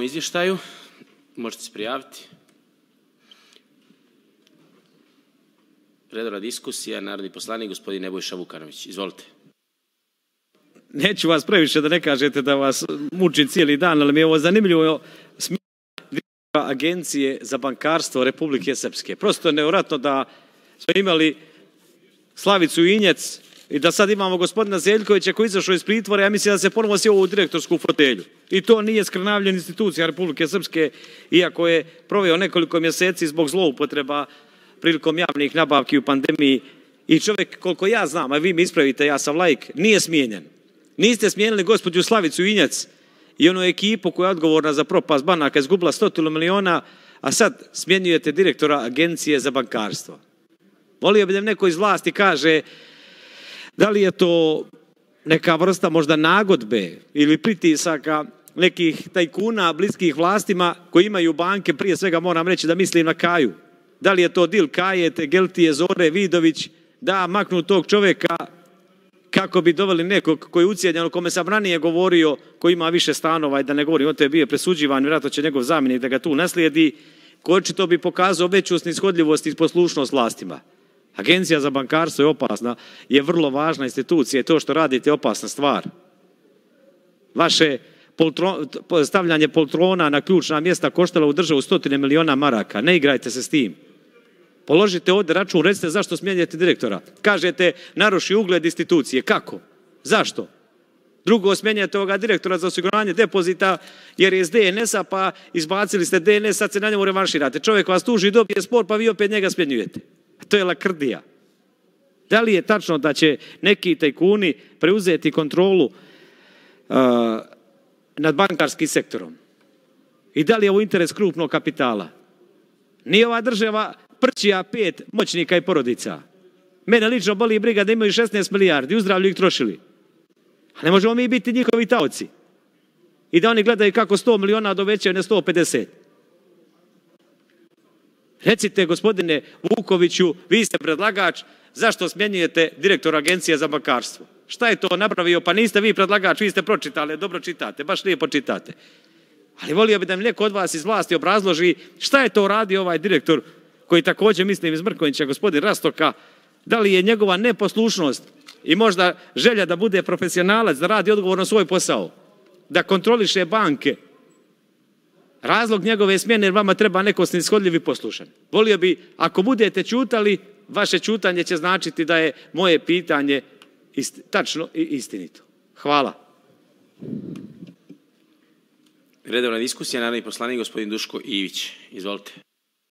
ovom izvještaju. Možete se prijaviti. Redovna diskusija, narodni poslanik, gospodin Nebojša Vukanović. Izvolite. Neću vas previše da ne kažete da vas mučim cijeli dan, ali mi je ovo zanimljivo direktora Agencije za bankarstvo Republike Srpske. Prosto je nevjerojatno da smo imali Slavicu Injec i da sad imamo gospodina Zeljkovića koji je izašao iz pritvora, ja mislim da se ponovo sjeo u direktorsku fotelju. I to nije skrnavljena institucija Republike Srpske, iako je proveo nekoliko mjeseci zbog zloupotreba prilikom javnih nabavki u pandemiji. I čovjek, koliko ja znam, a vi mi ispravite, ja sam laik, nije smijenjen. Niste smijenili gospođu Slavicu Injec i onu ekipu koja je odgovorna za propast banaka, izgubila 100 miliona, a sad smjenjujete direktora Agencije za bankarstvo. Volio bi da neko iz vlasti kaže da li je to neka vrsta možda nagodbe ili pritisaka nekih tajkuna bliskih vlastima koji imaju banke, prije svega moram reći da mislim na Kaju. Da li je to dil Kaje, Tegeltije, Zore, Vidović, da maknu tog čovjeka kako bi doveli nekog koji je ucijenjen, o kome sam ranije govorio, koji ima više stanova i da ne govorim, on to je bio presuđivan, vjerojatno će njegov zamjenik da ga tu naslijedi, koji očito bi pokazao veću snishodljivost i poslušnost vlastima. Agencija za bankarstvo je opasna, je vrlo važna institucija i to što radite je opasna stvar. Vaše stavljanje poltrona na ključna mjesta koštalo u državu 100 miliona maraka. Ne igrajte se s tim. Položite ovdje račun, recite zašto smjenjujete direktora. Kažete, naruši ugled institucije. Kako? Zašto? Drugo, smjenjujete ovoga direktora za osiguranje depozita jer je iz DNS-a, pa izbacili ste DNS, sad se na njemu revanširate. Čovjek vas tuži, dobije spor, pa vi opet njega smjenjujete. To je lakrdija. Da li je tačno da će neki tajkuni preuzeti kontrolu nad bankarskim sektorom? I da li je ovo interes krupnog kapitala? Nije ova država prćija 5 moćnika i porodica. Mene lično boli briga da imaju 16 milijardi, uzdravlju ih trošili. A ne možemo mi biti njihovi taoci. I da oni gledaju kako 100 miliona dovećaju na 150. Recite, gospodine Vukoviću, vi ste predlagač, zašto smjenjujete direktora Agencije za bankarstvo? Šta je to napravio? Pa niste vi predlagač, vi ste pročitali, dobro čitate, baš lijepo čitate. Ali volio bi da mi neko od vas iz vlasti obrazloži šta je to radio ovaj direktor, koji također, mislim iz Mrkonjića, gospodin Rastoka, da li je njegova neposlušnost i možda želja da bude profesionalac, da radi odgovorno svoj posao, da kontroliše banke, razlog njegove smjene jer vama treba neko snishodljiv i poslušan. Volio bi, ako budete ćutali, vaše ćutanje će značiti da je moje pitanje tačno i istinito. Hvala. Redovna diskusija, narodni poslanik, gospodin Duško Ivić. Izvolite.